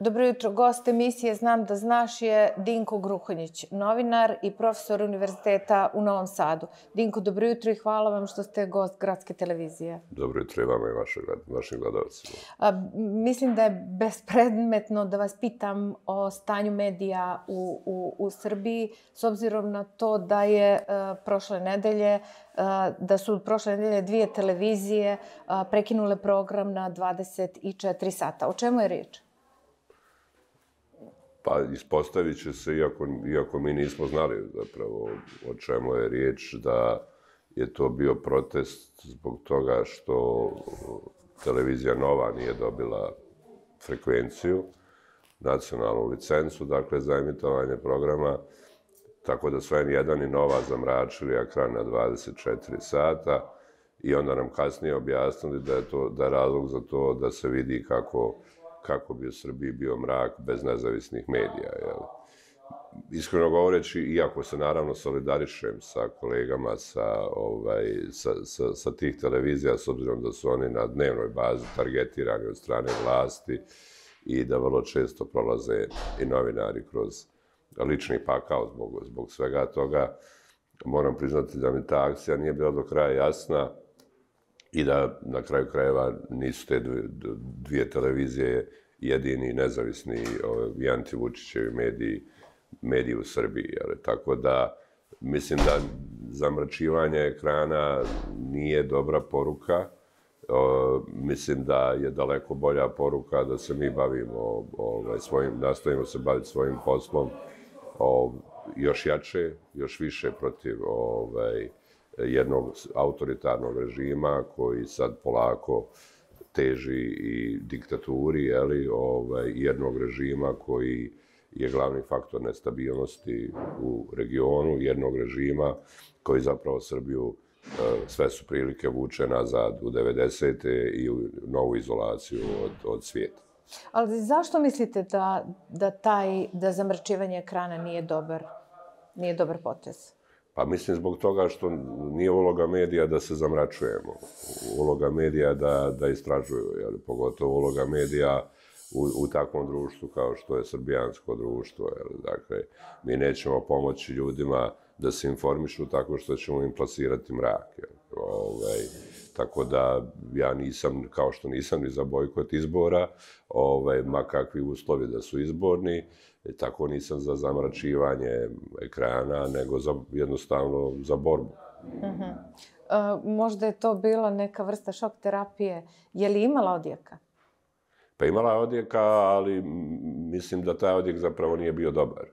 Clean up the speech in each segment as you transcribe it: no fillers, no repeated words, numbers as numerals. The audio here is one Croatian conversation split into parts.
Dobro jutro. Gost emisije Znam da znaš je Dinko Gruhonjić, novinar i profesor Univerziteta u Novom Sadu. Dinko, dobro jutro i hvala vam što ste gost Gradske televizije. Dobro jutro i vama i vašim gledalcima. Mislim da je bespredmetno da vas pitam o stanju medija u Srbiji, s obzirom na to da je da su prošle nedelje dvije televizije prekinule program na 24 sata. O čemu je riječ? Pa ispostavit će se, iako mi nismo znali zapravo o čemu je riječ, da je to bio protest zbog toga što televizija Nova nije dobila frekvenciju, nacionalnu licencu, dakle za emitovanje programa, tako da su N1 i Nova zamračili ekran na 24 sata i onda nam kasnije objasnili da je razlog za to da se vidi kako bi u Srbiji bio mrak bez nezavisnih medija. Iskreno govoreći, iako se naravno solidarišem sa kolegama sa tih televizija, s obzirom da su oni na dnevnoj bazi targetirani od strane vlasti i da vrlo često prolaze i novinari kroz lični pakao zbog svega toga, moram priznati da mi ta akcija nije bila do kraja jasna i da na kraju krajeva nisu te dvije televizije jedini nezavisni i anti-Vučićevi mediji u Srbiji. Tako da mislim da zamračivanje ekrana nije dobra poruka. Mislim da je daleko bolja poruka da se mi bavimo nastavimo se baviti svojim poslom još jače, još više protiv jednog autoritarnog režima koji sad polako teži i diktaturi, jednog režima koji je glavni faktor nestabilnosti u regionu, jednog režima koji zapravo Srbiju sve su prilike vuče nazad u 90. i u novu izolaciju od svijeta. Ali zašto mislite da zamračivanje ekrana nije dobar potez? Pa mislim zbog toga što nije uloga medija da se zamračujemo. Uloga medija da istražuju, pogotovo uloga medija u takvom društvu kao što je srbijansko društvo. Dakle, mi nećemo pomoći ljudima da se informišu tako što ćemo im plasirati mrak. Tako da ja nisam, kao što nisam ni za bojkot izbora, ma kakvi uslovi da su izborni, tako nisam za zamračivanje ekrana, nego jednostavno za borbu. Možda je to bila neka vrsta šok terapije. Je li imala odjeka? Pa imala je odjeka, ali mislim da taj odjek zapravo nije bio dobar.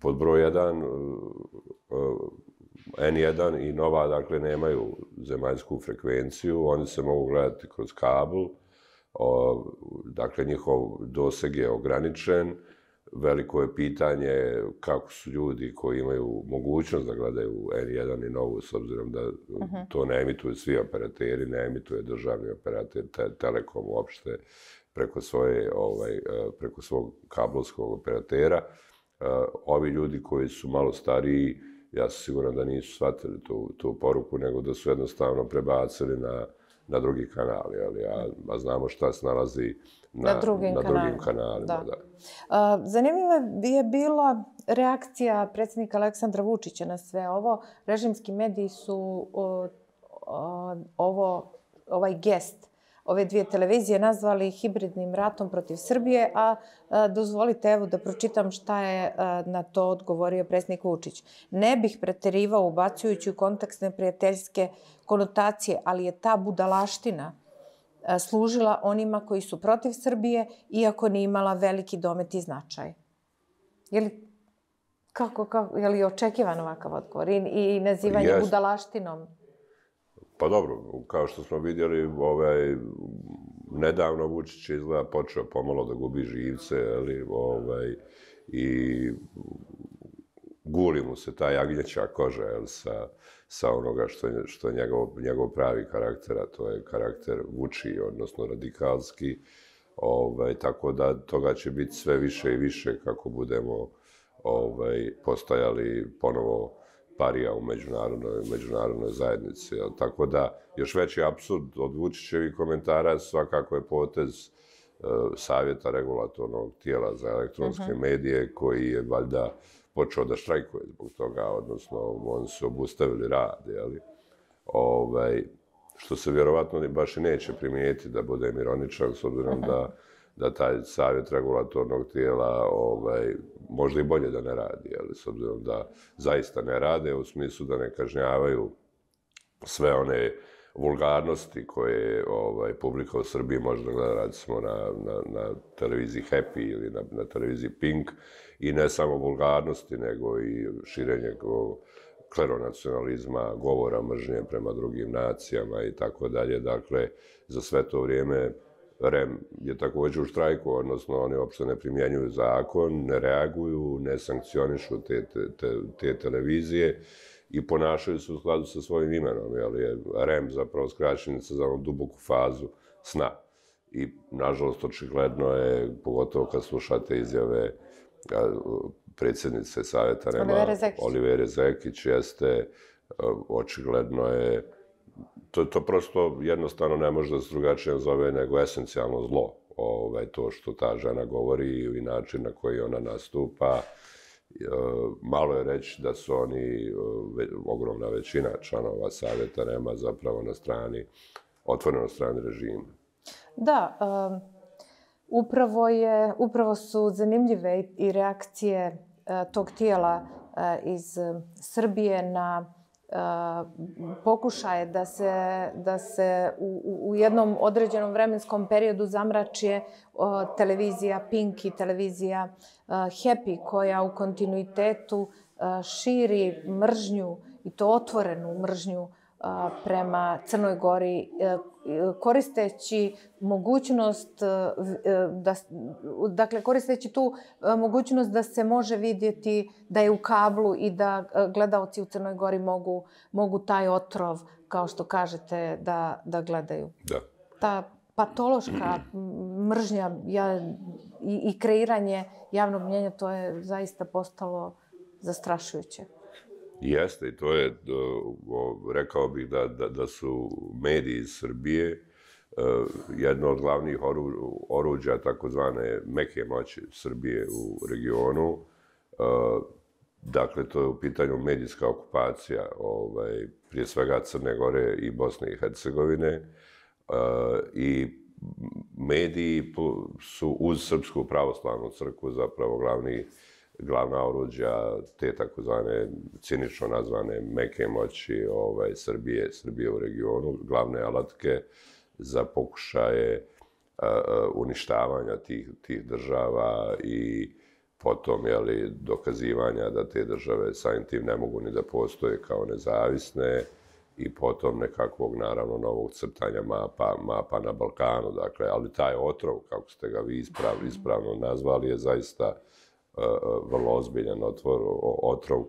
Pod broj 1, N1 i Nova, dakle, nemaju zemaljsku frekvenciju, oni se mogu gledati kroz kabel, dakle, njihov doseg je ograničen, veliko je pitanje kako su ljudi koji imaju mogućnost da gledaju N1 i Novu, s obzirom da to ne emituju svi operateri, ne emituje državni operater, Telekom uopšte, preko svog kablovskog operatera. Ovi ljudi koji su malo stariji, ja sam siguran da nisu shvatili tu poruku, nego da su jednostavno prebacili na drugi kanali, a znamo šta se nalazi na drugim kanalima. Zanimljiva je bila reakcija predsjednika Aleksandra Vučića na sve ovo. Režimski mediji su ovaj gest ove dvije televizije nazvali hibridnim ratom protiv Srbije, a dozvolite evo da pročitam šta je na to odgovorio predsjednik Vučić. Ne bih preterivao ubacujući u kontekst neprijateljske konotacije, ali je ta budalaština služila onima koji su protiv Srbije, iako nije imala veliki domet i značaj. Je li očekivan ovakav odgovor i nazivanje budalaštinom? Pa dobro, kao što smo vidjeli, nedavno Vučić je izgleda počeo pomalo da gubi živce, i guli mu se ta jagnjeća koža sa onoga što je njegov pravi karakter, a to je karakter Vuči, odnosno radikalski, tako da toga će biti sve više i više kako budemo postajali ponovo parija u međunarodnoj zajednici. Tako da, još veći apsurd od Vučićevih komentara svakako je potez savjeta regulatornog tijela za elektronske medije, koji je valjda počeo da štrajkuje zbog toga, odnosno oni su obustavili rad, jeli? Što se vjerovatno baš i neće primijetiti, da budem ironičan, s obzirom da taj savjet regulatornog tijela možda i bolje da ne radi, jeli? S obzirom da zaista ne rade, u smislu da ne kažnjavaju sve one vulgarnosti koje publika u Srbiji može da gleda, recimo na televiziji Happy ili na televiziji Pink, i ne samo vulgarnosti, nego i širenje kleronacionalizma, govora mržnje prema drugim nacijama i tako dalje. Dakle, za sve to vrijeme REM je također u štrajku, odnosno oni uopšte ne primjenjuju zakon, ne reaguju, ne sankcionišu te televizije i ponašaju se u skladu sa svojim imenom, jer je REM zapravo skraćenica za onu duboku fazu sna. I, nažalost, očigledno je, pogotovo kad slušate izjave predsjednice Savjeta REM-a, Olivere Zekić, jeste, očigledno je, to prosto jednostavno ne može da se drugačije zove nego esencijalno zlo, to što ta žena govori i način na koji ona nastupa. Malo je reći da su oni, ogromna većina članova Savjeta REM-a, zapravo na strani, otvoreno strani režima. Da, upravo su zanimljive i reakcije tog tijela iz Srbije na pokušaje da se u jednom određenom vremenskom periodu zamrači televizija Pink i televizija Happy, koja u kontinuitetu širi mržnju, i to otvorenu mržnju prema Crnoj Gori, koristeći mogućnost koristeći tu mogućnost da se može vidjeti da je u kablu i da gledaoci u Crnoj Gori mogu taj otrov, kao što kažete, da gledaju. Da. Ta patološka mržnja i kreiranje javnog mnijenja, to je zaista postalo zastrašujuće. Jeste, i to je, rekao bih da su mediji iz Srbije jedno od glavnih oruđa takozvane meke moći Srbije u regionu. Dakle, to je u pitanju medijska okupacija, prije svega Crne Gore i Bosne i Hercegovine. I mediji su uz Srpsku pravoslavnu crkvu zapravo glavna oruđa te takozvane cinično nazvane meke moći Srbije u regionu, glavne alatke za pokušaje uništavanja tih država i potom dokazivanja da te države samim tim ne mogu ni da postoje kao nezavisne, i potom nekakvog, naravno, novog crtanja mapa na Balkanu. Dakle, ali taj otrov, kako ste ga vi ispravno nazvali, je zaista vrlo ozbiljan otrov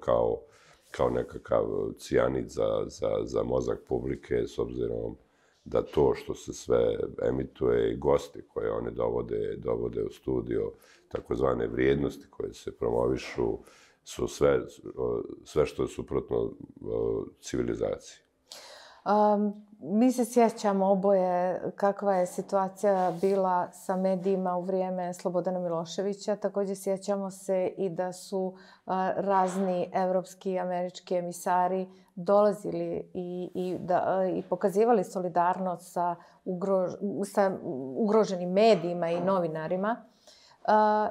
kao nekakav cijanid za mozak publike, s obzirom da to što se sve emituje i gosti koje oni dovode u studio, takozvane vrijednosti koje se promovišu, su sve što je suprotno civilizaciji. Mi se sjećamo oboje kakva je situacija bila sa medijima u vrijeme Slobodana Miloševića. Također sjećamo se i da su razni evropski i američki emisari dolazili i pokazivali solidarnost sa ugroženim medijima i novinarima.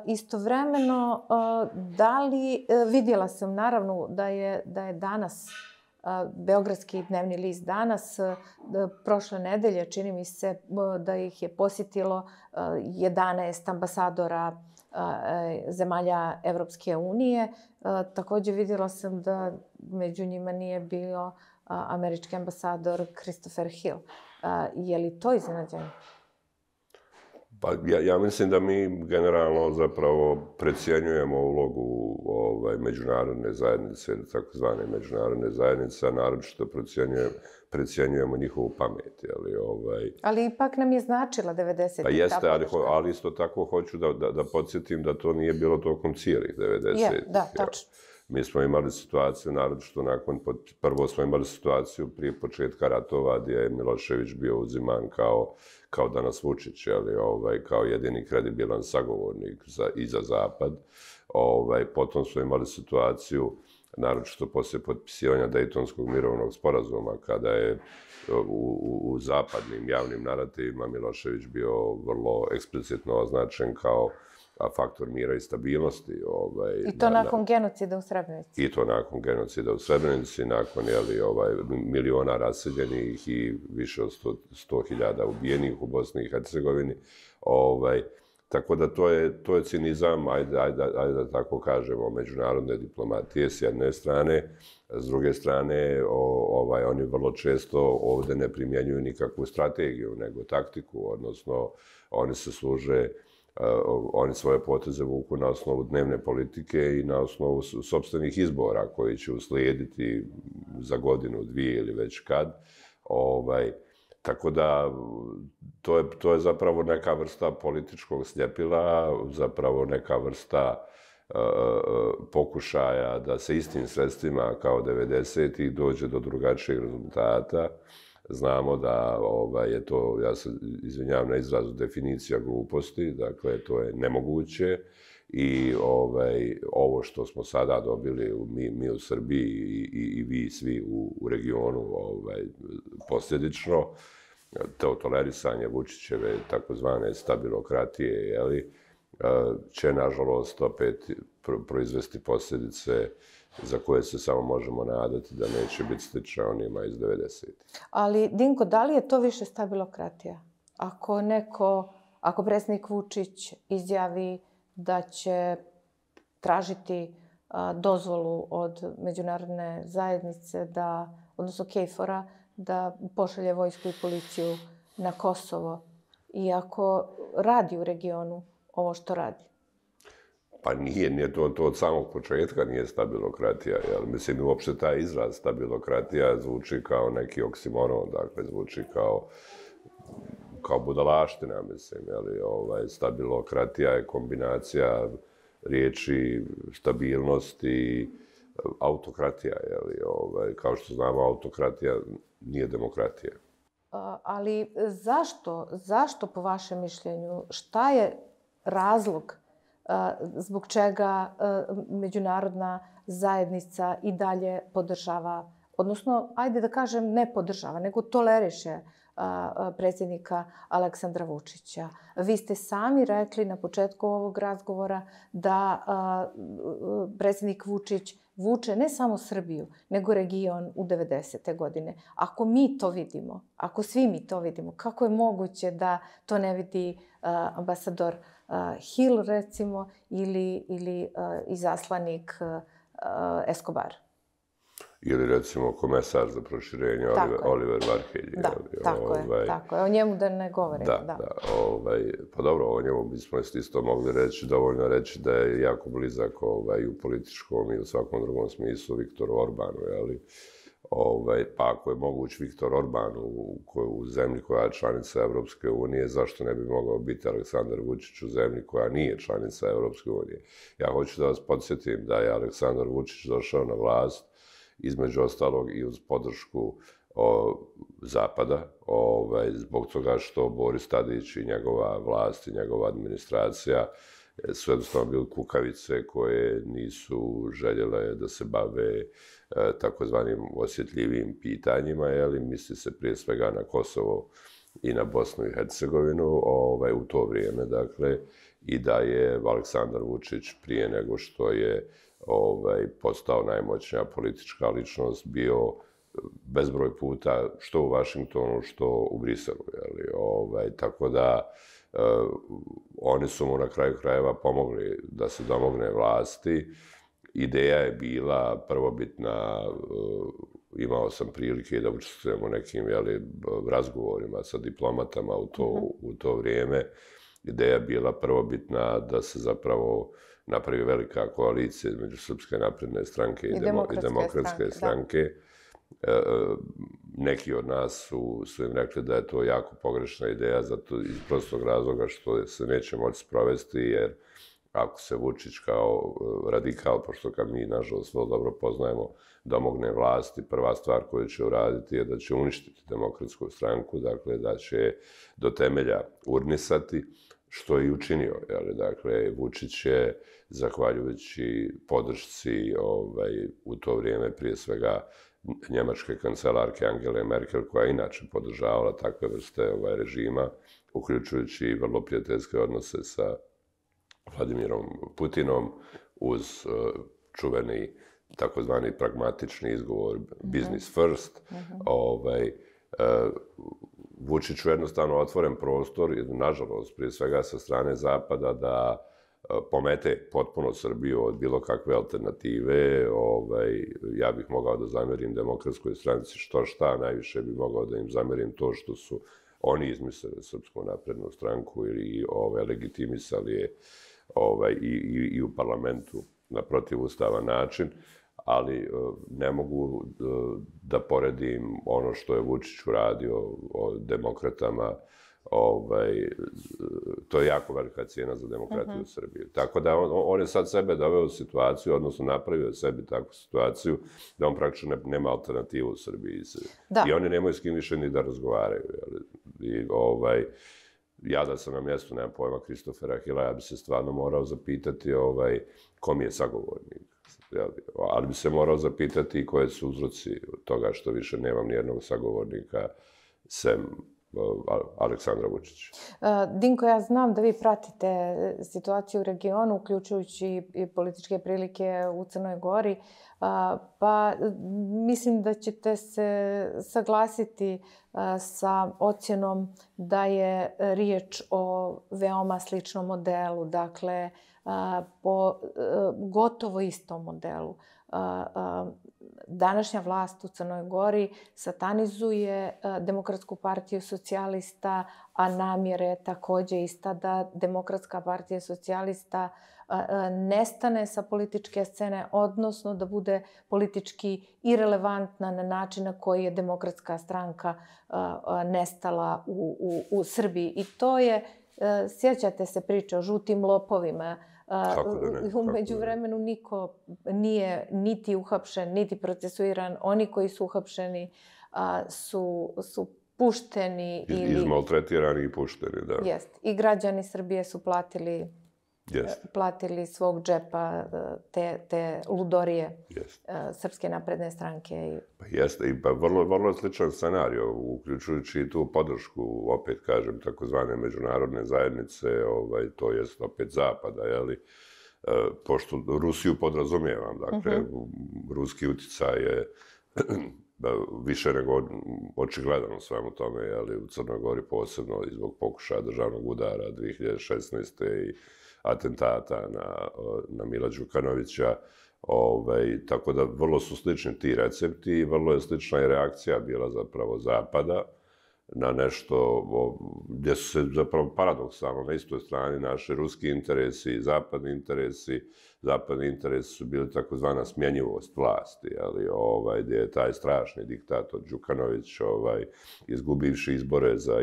Istovremeno, vidjela sam naravno da je danas Beogradski dnevni list Danas, prošle nedelje, čini mi se da ih je posjetilo 11 ambasadora zemalja Evropske unije. Također vidjela sam da među njima nije bio američki ambasador Christopher Hill. Je li to iznenađenje? Pa ja mislim da mi generalno zapravo precijenjujemo ulogu međunarodne zajednice, takozvane međunarodne zajednice, a naročito precijenjujemo njihovu pamet. Ali ipak nam je značila 90. Pa jeste, ali isto tako hoću da podsjetim da to nije bilo tokom cijelih 90. Da, tačno. Mi smo imali situaciju, naročito prvo smo imali situaciju prije početka ratova gdje je Milošević bio uziman kao danas Vučić, kao jedini kredibilan sagovornik i za Zapad. Potom smo imali situaciju, naročito poslije potpisivanja Dejtonskog mirovnog sporazuma, kada je u zapadnim javnim narativima Milošević bio vrlo eksplicitno označen kao faktor mira i stabilnosti. I to nakon genocida u Srebrenici. I to nakon genocida u Srebrenici, nakon miliona raseljenih i više od 100.000 ubijenih u Bosni i Hercegovini. Tako da to je cinizam, ajde da tako kažemo, međunarodne diplomatije s jedne strane. S druge strane, oni vrlo često ovdje ne primjenjuju nikakvu strategiju, nego taktiku, odnosno oni se služe, oni svoje poteze vuku na osnovu dnevne politike i na osnovu sopstvenih izbora koji će uslijediti za godinu, dvije ili već kad. Tako da to je zapravo neka vrsta političkog sljepila, zapravo neka vrsta pokušaja da se istim sredstvima kao 90-ih dođe do drugačijeg rezultata. Znamo da je to, ja se izvinjavam na izrazu, definicija gluposti, dakle to je nemoguće i ovo što smo sada dobili mi u Srbiji i vi svi u regionu posljedično, to tolerisanje Vučićeve takozvane stabilokratije, će nažalost opet proizvesti posljedice za koje se samo možemo nadati da neće biti slične onima iz 90-ih. Ali, Dinko, da li je to više stabilokratija? Ako predsjednik Vučić izjavi da će tražiti dozvolu od međunarodne zajednice, odnosno KFOR-a, da pošalje vojsku i policiju na Kosovo, i ako radi u regionu ovo što radi? Pa nije to od samog početka nije stabilokratija. Mislim, uopšte taj izraz stabilokratija zvuči kao neki oksimoron, dakle, zvuči kao budalaština, mislim. Stabilokratija je kombinacija riječi stabilnost i autokratija. Kao što znamo, autokratija nije demokratija. Ali zašto po vašem mišljenju, šta je razlog zbog čega međunarodna zajednica i dalje podržava, odnosno, ajde da kažem, ne podržava, nego toleriše predsjednika Aleksandra Vučića? Vi ste sami rekli na početku ovog razgovora da predsjednik Vučić vuče ne samo Srbiju, nego region u 90. godine. Ako mi to vidimo, ako svi mi to vidimo, kako je moguće da to ne vidi ambasador Hill, recimo, ili izaslanik Escobar? Ili, recimo, komesar za proširenje Oliver Varhelj. Da, tako je. O njemu da ne govorimo. Da. Pa dobro, o njemu bismo isto mogli reći, dovoljno reći da je jako blizak u političkom i u svakom drugom smislu Viktoru Orbanu, pa ako je moguć Viktor Orban u zemlji koja je članica Evropske unije, zašto ne bi mogao biti Aleksandar Vučić u zemlji koja nije članica Evropske unije? Ja hoću da vas podsjetim da je Aleksandar Vučić došao na vlast između ostalog i uz podršku Zapada, zbog toga što Boris Tadić i njegova vlast i njegova administracija su jednostavno bili kukavice koje nisu željele da se bave takozvanim osjetljivim pitanjima, misli se prije svega na Kosovo i na Bosnu i Hercegovinu u to vrijeme, dakle, i da je Aleksandar Vučić prije nego što je postao najmoćnija politička ličnost bio bezbroj puta što u Vašingtonu, što u Briselu. Tako da oni su mu na kraju krajeva pomogli da se domogne vlasti. Ideja je bila prvobitna, imao sam prilike da učestvujem u nekim razgovorima sa diplomatama u to vrijeme. Ideja je bila prvobitna da se zapravo napravi velika koalicija između Srpske napredne stranke i Demokratske stranke. Neki od nas su im rekli da je to jako pogrešna ideja, zato iz prostog razloga što se neće moći sprovesti, jer ako se Vučić kao radikal, pošto ga mi, nažalost, vrlo dobro poznajemo, domogne vlasti, prva stvar koju će uraditi je da će uništiti Demokratsku stranku, dakle, da će do temelja urnisati, što je i učinio. Dakle, Vučić je, zahvaljujući podršci u to vrijeme, prije svega, njemačke kancelarke Angele Merkel, koja je inače podržavala takve vrste režima, uključujući i vrlo prijateljske odnose sa Vladimirom Putinom, uz čuveni takozvani pragmatični izgovor business first. Vučiću jednostavno otvoren prostor, nažalost, prije svega sa strane Zapada, da pomete potpuno Srbiju od bilo kakve alternative. Ja bih mogao da zamerim Demokratskoj stranci što šta, najviše bih mogao da im zamerim to što su oni izmislili Srpsku naprednu stranku i legitimisali je i u parlamentu na protivustavan način, ali ne mogu da poredim ono što je Vučić uradio o demokratama. To je jako velika cijena za demokratiju u Srbiji. Tako da on je sad sebe doveo u situaciju, odnosno napravio sebi takvu situaciju, da on praktično nema alternativu u Srbiji. I oni nemaju s kim više ni da razgovaraju. Ja da sam na mjestu, nemam pojma, Kristofera Hila, ja bi se stvarno morao zapitati ko mi je sagovornik. Ali bi se morao zapitati koje su uzroci toga što više nemam nijednog sagovornika sem Aleksandra Vučića. Dinko, ja znam da vi pratite situaciju u regionu, uključujući i političke prilike u Crnoj Gori, pa mislim da ćete se saglasiti sa ocjenom da je riječ o veoma sličnom modelu, dakle, po gotovo istom modelu. Današnja vlast u Crnoj Gori satanizuje Demokratsku partiju socijalista, a namjera je također ista da Demokratska partija socijalista nestane sa političke scene, odnosno da bude politički irelevantna na način na koji je Demokratska stranka nestala u Srbiji. I to je, sjećate se priče o žutim lopovima. U međuvremenu niko nije niti uhapšen, niti procesuiran. Oni koji su uhapšeni su pušteni. Izmaltretirani i pušteni, da. Jest. I građani Srbije su platili svog džepa te ludorije Srpske napredne stranke. Jeste, i vrlo sličan scenario, uključujući i tu podršku, opet kažem, takozvane međunarodne zajednice, to jest opet Zapada, pošto Rusiju podrazumijevam, dakle, ruski uticaj je više nego očigledan u svemu tome, u Crnoj Gori posebno i zbog pokušaja državnog udara 2016. i atentata na Mila Đukanovića. Tako da vrlo su slični ti recepti i vrlo je slična i reakcija bila zapravo Zapada na nešto gdje su se zapravo paradoksalno na istoj strani naši ruski interesi i zapadni interesi. Zapadni interesi su bili takozvana smjenjivost vlasti, gdje je taj strašni diktator Đukanović izgubivši izbore za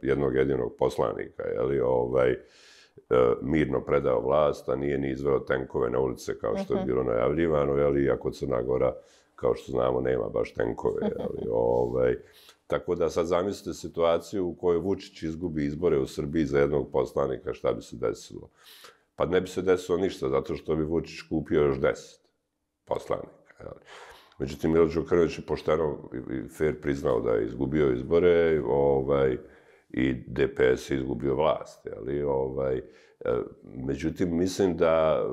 jednog jedinog poslanika, mirno predao vlast, a nije ni izveo tenkove na ulice kao što je bilo najavljivano, iako Crna Gora, kao što znamo, nema baš tenkove. Tako da sad zamislite situaciju u kojoj Vučić izgubi izbore u Srbiji za jednog poslanika, šta bi se desilo? Pa ne bi se desilo ništa, zato što bi Vučić kupio još 10 poslanika. Međutim, Milo Đukanović je pošteno i fair priznao da je izgubio izbore, i DPS je izgubio vlast. Međutim, mislim da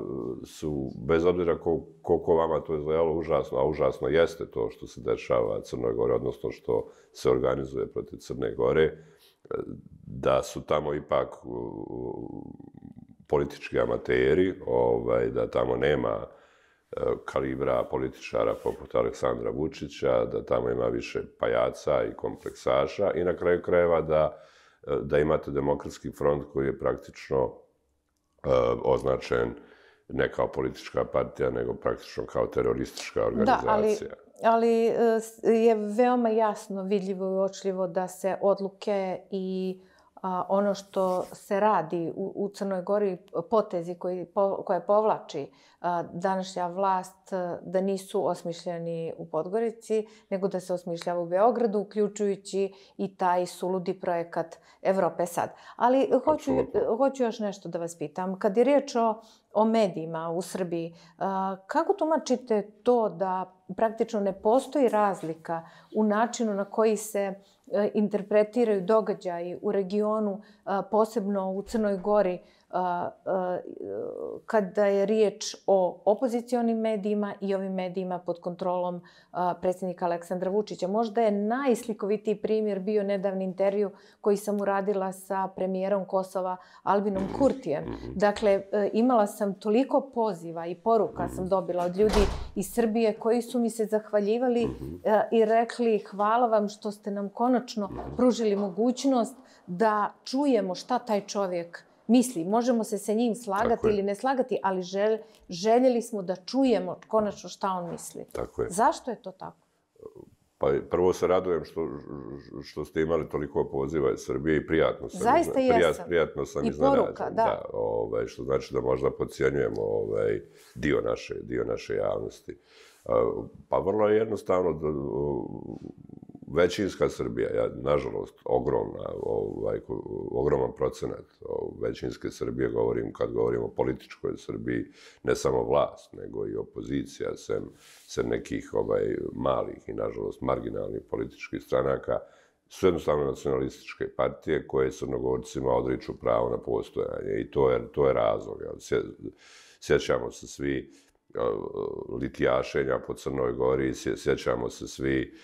su, bez obzira koliko vama to izgledalo užasno, a užasno jeste to što se dešava Crnoj Gori, odnosno što se organizuje protiv Crne Gore, da su tamo ipak politički amateri, da tamo nema kalibra političara poput Aleksandra Vučića, da tamo ima više pajaca i kompleksaša i na kraju krajeva da imate Demokratski front koji je praktično označen ne kao politička partija, nego praktično kao teroristička organizacija. Da, ali je veoma jasno, vidljivo i uočljivo da se odluke i ono što se radi u Crnoj Gori, potezi koje povlači današnja vlast, da nisu osmišljeni u Podgorici, nego da se osmišljava u Beogradu, uključujući i taj suludi projekat Evrope sad. Ali hoću još nešto da vas pitam. Kad je riječ o medijima u Srbiji, kako tumačite to da praktično ne postoji razlika u načinu na koji se interpretiraju događaji u regionu, posebno u Crnoj Gori, kada je riječ o opozicionim medijima i ovim medijima pod kontrolom predsjednika Aleksandra Vučića? Možda je najslikovitiji primjer bio nedavni intervju koji sam uradila sa premijerom Kosova Albinom Kurtijem. Dakle, imala sam toliko poziva i poruka sam dobila od ljudi iz Srbije koji su mi se zahvaljivali i rekli hvala vam što ste nam konačno pružili mogućnost da čujemo šta taj čovjek misli. Možemo se sa njim slagati ili ne slagati, ali željeli smo da čujemo konačno šta on misli. Tako je. Zašto je to tako? Pa prvo se radujem što ste imali toliko poziva iz Srbije i prijatno sam. Zaista jesam. Prijatno sam iznenađen. I poruka, da. Što znači da možda podcjenjujemo dio naše javnosti. Pa vrlo je jednostavno većinska Srbija, nažalost, ogroman procenat većinske Srbije, kad govorimo o političkoj Srbiji, ne samo vlast, nego i opozicija, sem nekih malih i, nažalost, marginalnih političkih stranaka, su jednostavno nacionalističke partije koje Crnogorcima odriču pravo na postojanje i to je razlog. Sjećamo se svi litijašenja po Crnoj Gori, sjećamo se svi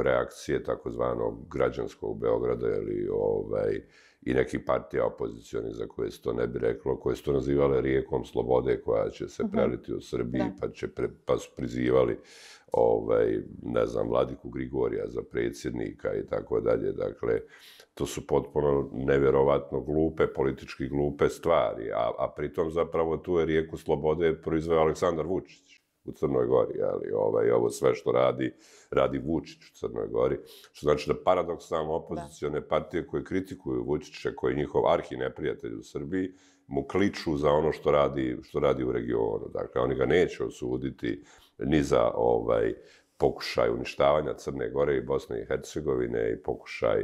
reakcije takozvanog građanskog Beograda i nekih partija opozicionih za koje se to ne bi reklo, koje su to nazivale rijekom slobode koja će se preliti u Srbiji, pa su prizivali ne znam, Vladiku Grigorija za predsjednika i tako dalje. Dakle, to su potpuno nevjerovatno politički glupe stvari, a pritom zapravo tu je rijeku slobode proizveo Aleksandar Vučić u Crnoj Gori, ali ovo sve što radi Vučić u Crnoj Gori, što znači da paradoksalno opozicione partije koje kritikuju Vučića, koji je njihov arhineprijatelj u Srbiji, mu kliču za ono što radi u regionu. Dakle, oni ga neće osuditi ni za pokušaj uništavanja Crne Gore i Bosne i Hercegovine i pokušaj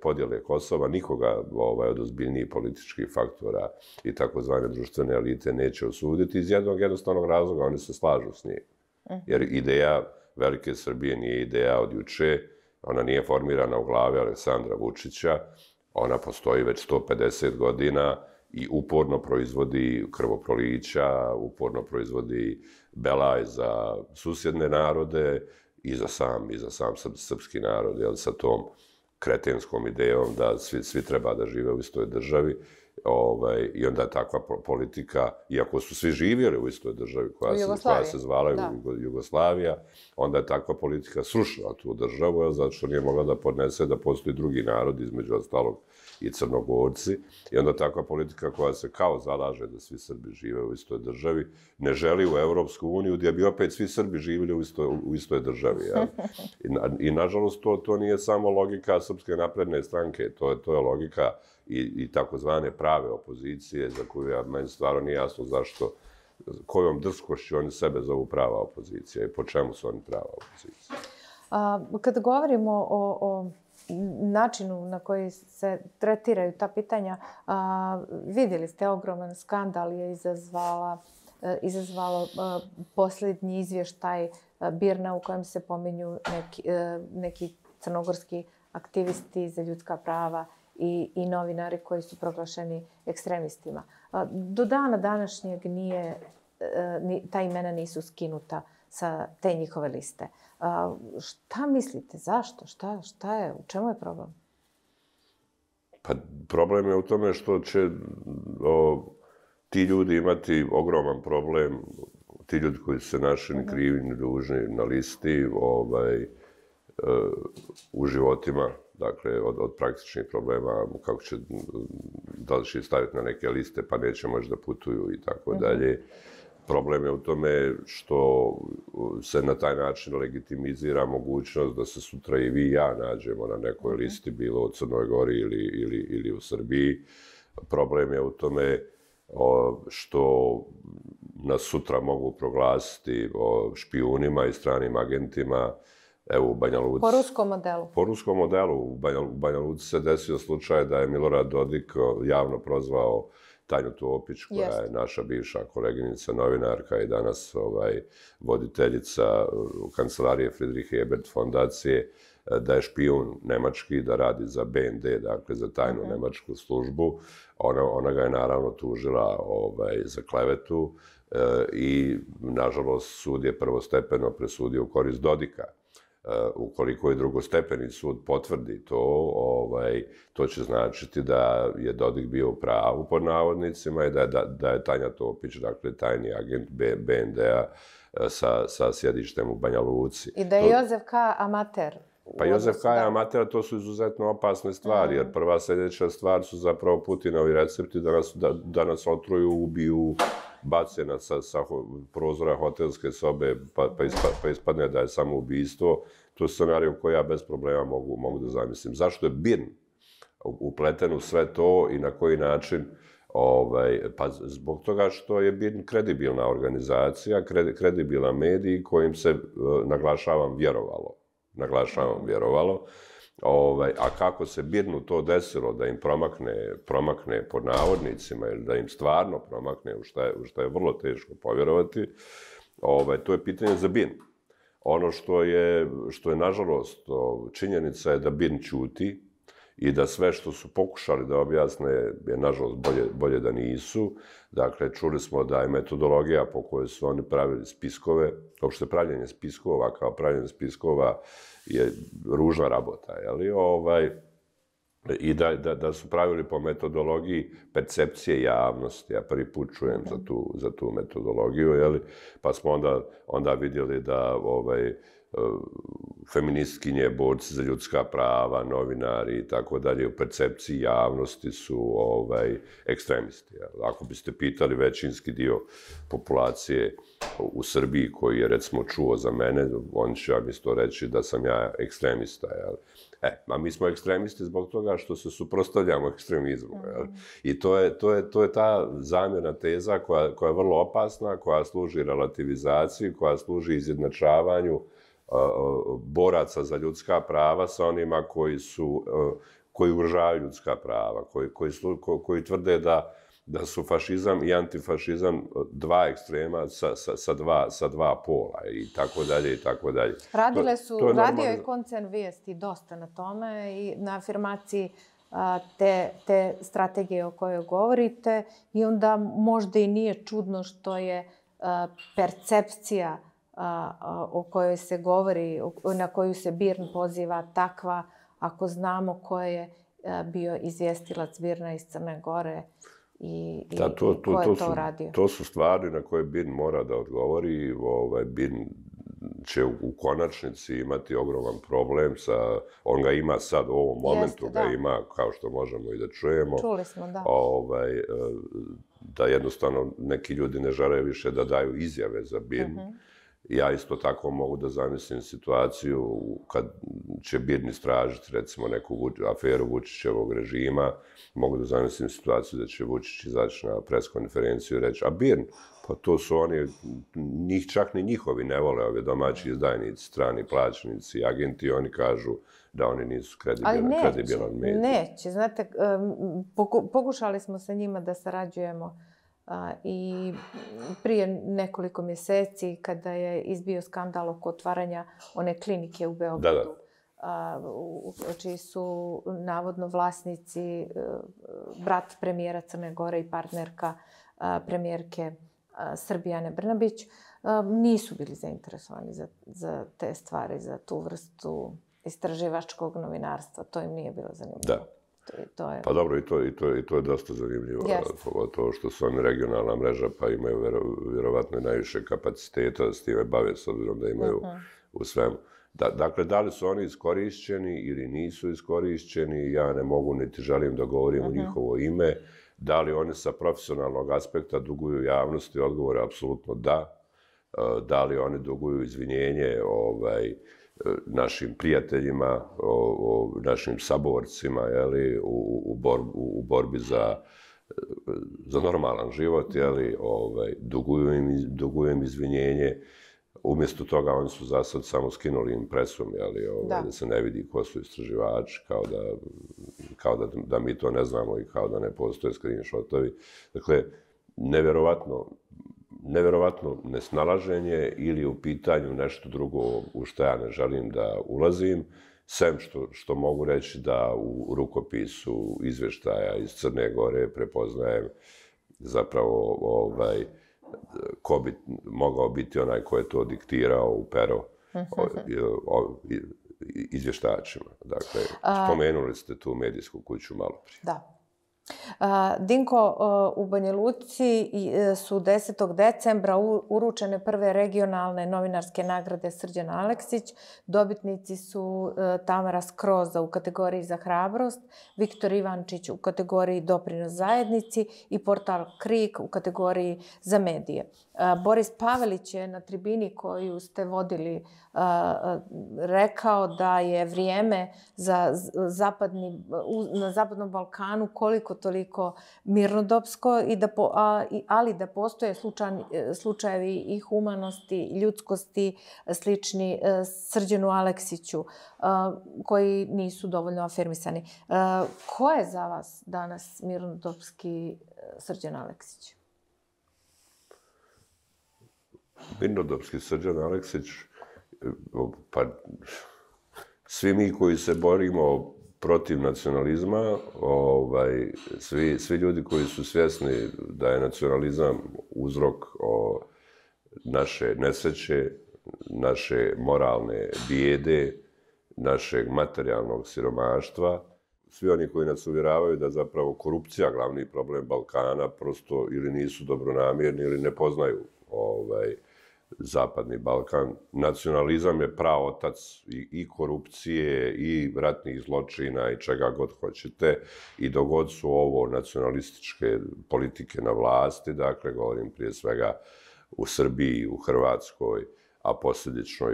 podjele Kosova. Nikoga od ozbiljnijih političkih faktora i takozvane društvene elite neće osuditi iz jednog jednostavnog razloga, oni se slažu s njim. Jer ideja velike Srbije nije ideja od juče, ona nije formirana u glavi Aleksandra Vučića, ona postoji već 150 godina i uporno proizvodi krvoprolića, uporno proizvodi belaj za susjedne narode i za sam srpski narod, sa tom kretenskom idejom da svi treba da žive u istoj državi. I onda je takva politika, iako su svi živjeli u istoj državi koja se zvala Jugoslavija, onda je takva politika srušila tu državu, zato što nije mogla da podnese da postoji drugi narod, između ostalog i Crnogorci. I onda takva politika koja se kao zalaže da svi Srbi žive u istoj državi, ne želi u Evropsku uniju, gdje bi opet svi Srbi živjeli u istoj državi. I nažalost, to nije samo logika Srpske napredne stranke, to je logika i takozvane prave opozicije, za koju meni stvarno nije jasno zašto, kojom drskošću oni sebe zovu prava opozicija i po čemu su oni prava opozicija. Kada govorimo o načinu na koji se tretiraju ta pitanja, vidjeli ste, ogroman skandal je izazvalo posljednji izvještaj BIRN-a u kojem se pominju neki crnogorski aktivisti za ljudska prava i novinari koji su proglašeni ekstremistima. Do dana današnjeg ta imena nisu skinuta sa te njihove liste. Šta mislite? Zašto? Šta je? U čemu je problem? Pa problem je u tome što će ti ljudi imati ogroman problem, ti ljudi koji su se našli ni krivi ni dužni na listi u životima, dakle, od praktičnih problema, kako će, da li će staviti na neke liste, pa neće moći da putuju i tako dalje. Problem je u tome što se na taj način legitimizira mogućnost da se sutra i vi i ja nađemo na nekoj listi, bilo u Crnoj Gori ili u Srbiji. Problem je u tome što nas sutra mogu proglasiti špijunima i stranim agentima. Evo, u Banja Luci... Po ruskom modelu? Po ruskom modelu. U Banja Luci se desio slučaj da je Milorad Dodik javno prozvao Tanju Topić, koja je naša bivša koleginica, novinarka i danas voditeljica kancelarije Friedrich Ebert fondacije, da je špijun nemački, da radi za BND, dakle za tajnu nemačku službu. Ona ga je naravno tužila za klevetu i, nažalost, sud je prvostepeno presudio u korist Dodika. Ukoliko i drugostepeni sud potvrdi to, to će značiti da je Dodik bio u pravu pod navodnicima i da je Tanja Topić, dakle tajni agent BND-a sa sjedištem u Banja Luci. I da je Jozef K. amater. Pa Jozef K. je amater, to su izuzetno opasne stvari, jer prva sljedeća stvar su zapravo Putinovi recepti da nas otruju, ubiju, bace nas sa prozora hotelske sobe pa ispadne da je samo ubistvo. To je scenarij koji ja bez problema mogu da zamislim. Zašto je BIRN upleten u sve to i na koji način? Pa zbog toga što je BIRN kredibilna organizacija, kredibilan medij kojim se, naglašavam, vjerovalo. A kako se BIRN-u to desilo, da im promakne pod navodnicima ili da im stvarno promakne, u što je vrlo teško povjerovati, to je pitanje za BIRN. Ono što je nažalost, činjenica je da BIRN ćuti i da sve što su pokušali da objasne je, nažalost, bolje da nisu. Dakle, čuli smo da je metodologija po kojoj su oni pravili spiskove, uopšte pravljenje spiskova kao pravljenje spiskova je ružna rabota, i da su pravili po metodologiji percepcije javnosti. Ja prvi put čujem za tu metodologiju, pa smo onda vidjeli da feministkinje, borci za ljudska prava, novinari i tako dalje, u percepciji javnosti su ekstremisti. Ako biste pitali većinski dio populacije u Srbiji koji je, recimo, čuo za mene, on će vam isto reći da sam ja ekstremista. A mi smo ekstremisti zbog toga što se suprotstavljamo ekstremizmu. I to je ta zamjena teza koja je vrlo opasna, koja služi relativizaciji, koja služi izjednačavanju boraca za ljudska prava sa onima koji ugrožavaju ljudska prava, koji tvrde da su fašizam i antifašizam dva ekstrema sa dva pola i tako dalje i tako dalje. Radio je koncern Vijesti dosta na tome i na afirmaciji te strategije o kojoj govorite i onda možda i nije čudno što je percepcija o kojoj se govori, na koju se BIRN poziva takva, ako znamo ko je bio izvjestilac BIRN-a iz Crne Gore i ko je to radio. To su stvari na koje BIRN mora da odgovori. BIRN će u konačnici imati ogroman problem on ga ima sad u ovom momentu, ga ima, kao što možemo i da čujemo. Čuli smo, da. Da jednostavno neki ljudi ne žele više da daju izjave za BIRN. Ja isto tako mogu da zamislim situaciju kad će BIRN istražiti, recimo, neku aferu Vučićevog režima. Mogu da zamislim situaciju da će Vučić izaći na preskonferenciju i reći, a BIRN, pa to su oni, njih čak ni njihovi ne vole, ovi domaći izdajnici, strani plaćnici, agenti, oni kažu da oni nisu kredibilan medij. Neće, znate, pokušali smo sa njima da sarađujemo i prije nekoliko mjeseci kada je izbio skandal oko otvaranja one klinike u Beogradu, čiji su navodno vlasnici brat premijera Crne Gore i partnerka premijerke Srbije Ane Brnabić, nisu bili zainteresovani za te stvari, za tu vrstu istraživačkog novinarstva. To im nije bilo zanimljivo. Da. Pa dobro, i to je dosta zanimljivo. Pogotovo što su oni regionalna mreža, pa imaju vjerovatno i najviše kapaciteta da s time bave, s obzirom da imaju u svemu. Dakle, da li su oni iskorišćeni ili nisu iskorišćeni, ja ne mogu niti želim da govorim u njihovo ime. Da li oni sa profesionalnog aspekta duguju javnosti? Odgovor je apsolutno da. Da li oni duguju izvinjenje našim prijateljima, našim saborcima u borbi za normalan život, duguju im izvinjenje. Umjesto toga oni su za sad samo skinuli impresum, da se ne vidi ko su istraživači, kao da mi to ne znamo i kao da ne postoje screenshotovi. Dakle, neverovatno nesnalaženje ili u pitanju nešto drugo u što ja ne želim da ulazim, sem što mogu reći da u rukopisu izvještaja iz Crne Gore prepoznajem zapravo ko bi mogao biti onaj ko je to diktirao u pero izvještačima. Dakle, spomenuli ste tu medijsku kuću malo prije. Da. Dinko, u Banja Luci su 10. decembra uručene prve regionalne novinarske nagrade Srđan Aleksić. Dobitnici su Tamara Skroza u kategoriji za hrabrost, Viktor Ivančić u kategoriji doprinos zajednici i portal Krik u kategoriji za medije. Boris Pavelić je na tribini koju ste vodili rekao da je vrijeme na Zapadnom Balkanu koliko toliko mirnodopsko, ali da postoje slučajevi i humanosti, i ljudskosti slični Srđanu Aleksiću, koji nisu dovoljno afirmisani. Ko je za vas danas mirnodopski Srđan Aleksić? Mirnodopski Srđan Aleksić, pa svi mi koji se borimo protiv nacionalizma, svi ljudi koji su svjesni da je nacionalizam uzrok naše nesreće, naše moralne bijede, našeg materijalnog siromaštva, svi oni koji nas uvjeravaju da zapravo korupcija glavni problem Balkana prosto ili nisu dobronamjerni ili ne poznaju Zapadni Balkan. Nacionalizam je praotac i korupcije i ratnih zločina i čega god hoćete. I dok god su ovo nacionalističke politike na vlasti, dakle, govorim prije svega u Srbiji, u Hrvatskoj, a posljedično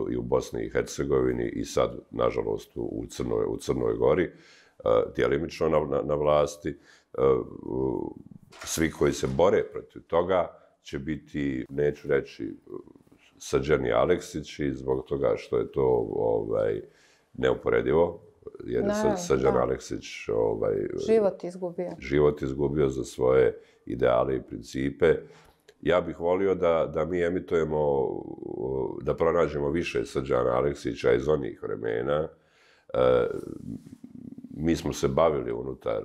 i u Bosni i Hercegovini i sad, nažalost, u Crnoj Gori, djelimično na vlasti, svi koji se bore protiv toga će biti, neću reći, Srđani Aleksići zbog toga što je to neuporedivo, jer je Srđan Aleksić život izgubio za svoje ideale i principe. Ja bih volio da mi emitujemo, da pronađemo više Srđana Aleksića iz onih vremena. Mi smo se bavili unutar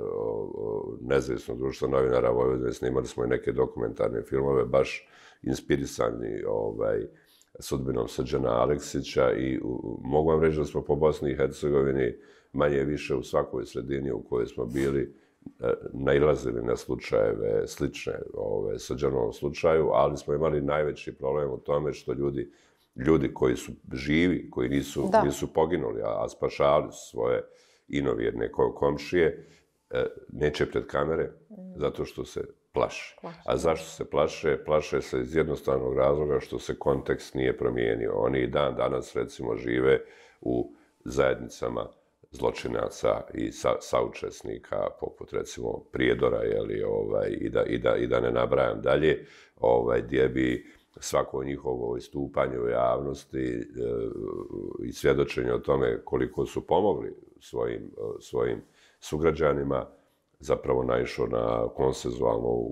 Nezavisnog društva novinara Vojvodine, snimali smo i neke dokumentarne filmove, baš inspirisani sudbinom Srđana Aleksića i mogu vam reći da smo po Bosni i Hercegovini manje više u svakoj sredini u kojoj smo bili nailazili na slučajeve slične Srđanovom slučaju, ali smo imali najveći problem u tome što ljudi koji su živi, koji nisu poginuli, a spašavali su svoje inovjerne komšije, neće pred kamere zato što se plaše. A zašto se plaše? Plaše se iz jednostavnog razloga što se kontekst nije promijenio. Oni i dan danas, recimo, žive u zajednicama zločinaca i saučesnika, poput, recimo, Prijedora, i da ne nabrajam dalje, gdje bi svako njihovo istupanje u javnosti i svjedočenje o tome koliko su pomogli svojim sugrađanima zapravo naišao na konsenzualnu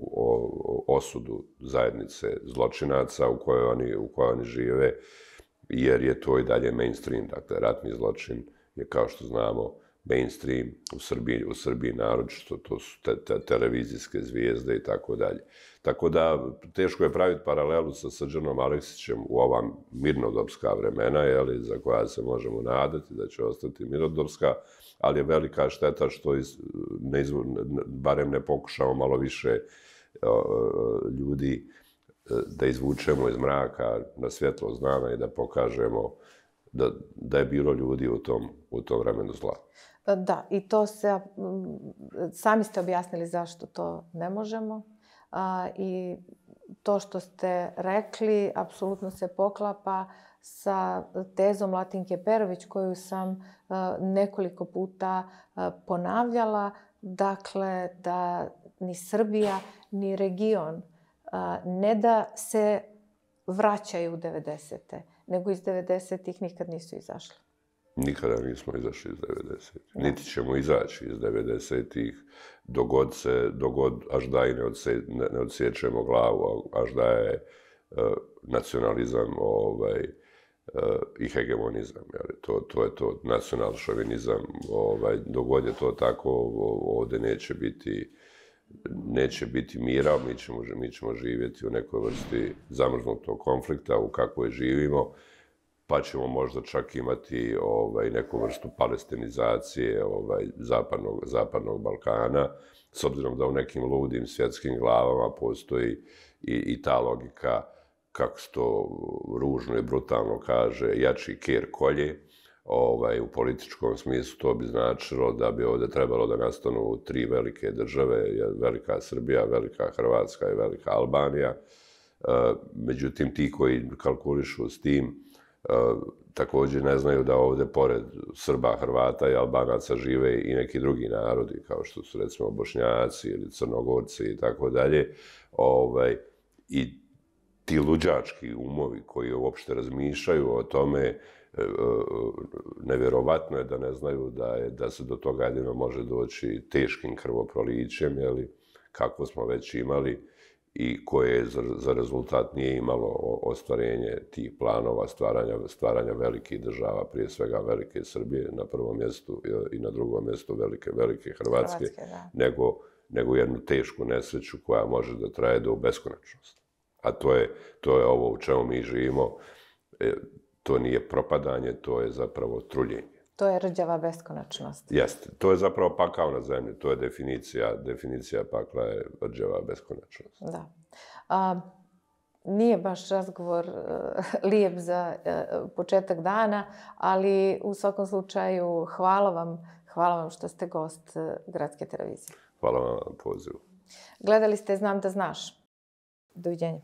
osudu zajednice zločinaca u kojoj oni žive, jer je to i dalje mainstream. Dakle, ratni zločin je, kao što znamo, mainstream u Srbiji naročito, to su televizijske zvijezde i tako dalje. Tako da, teško je praviti paralelu sa Srđanom Aleksićem u ova mirnodopska vremena, za koja se možemo nadati da će ostati mirnodopska, ali je velika šteta što barem ne pokušamo malo više ljudi da izvučemo iz mraka na svjetlost dana i da pokažemo da je bilo ljudi u tom vremenu zla. Da, i to se, sami ste objasnili zašto to ne možemo. I to što ste rekli apsolutno se poklapa sa tezom Latinke Perović koju sam nekoliko puta ponavljala. Dakle, da ni Srbija, ni region ne da se vraćaju u 90. nego iz 90-ih nikad nisu izašli. Nikada nismo izašli iz 90-ih. Niti ćemo izaći iz 90-ih dogod až da i ne odsjećemo glavu, až da je nacionalizam i hegemonizam. To je to, nacional-šovinizam. Dogod je to tako, ovdje neće biti mira, mi ćemo živjeti u nekoj vrsti zamrznutog konflikta u kakvoj živimo, pa ćemo možda čak imati neku vrstu palestinizacije zapadnog Balkana, s obzirom da u nekim ludim svjetskim glavama postoji i ta logika, kako se to ružno i brutalno kaže, jači ker kolje. U političkom smislu to bi značilo da bi ovdje trebalo da nastanu tri velike države, velika Srbija, velika Hrvatska i velika Albanija. Međutim, ti koji kalkulišu s tim također ne znaju da ovdje pored Srba, Hrvata i Albanaca žive i neki drugi narodi, kao što su recimo Bošnjaci ili Crnogorci i tako dalje. I ti luđački umovi koji uopšte razmišljaju o tome, nevjerovatno je da ne znaju da se do toga jedino može doći teškim krvoprolićem, kako smo već imali i koje za rezultat nije imalo ostvarenje tih planova stvaranja velikih država, prije svega velike Srbije na prvom mjestu i na drugom mjestu velike Hrvatske, nego jednu tešku nesreću koja može da traje do beskonačnosti. A to je ovo u čemu mi živimo. To nije propadanje, to je zapravo truljenje. To je rđava beskonačnost. Jeste. To je zapravo pakao na zemlji. To je definicija pakla je rđava beskonačnost. Da. Nije baš razgovor lijep za početak dana, ali u svakom slučaju hvala vam što ste gost Gradske televizije. Hvala vam na pozivu. Gledali ste Znam da znaš. Doviđenja.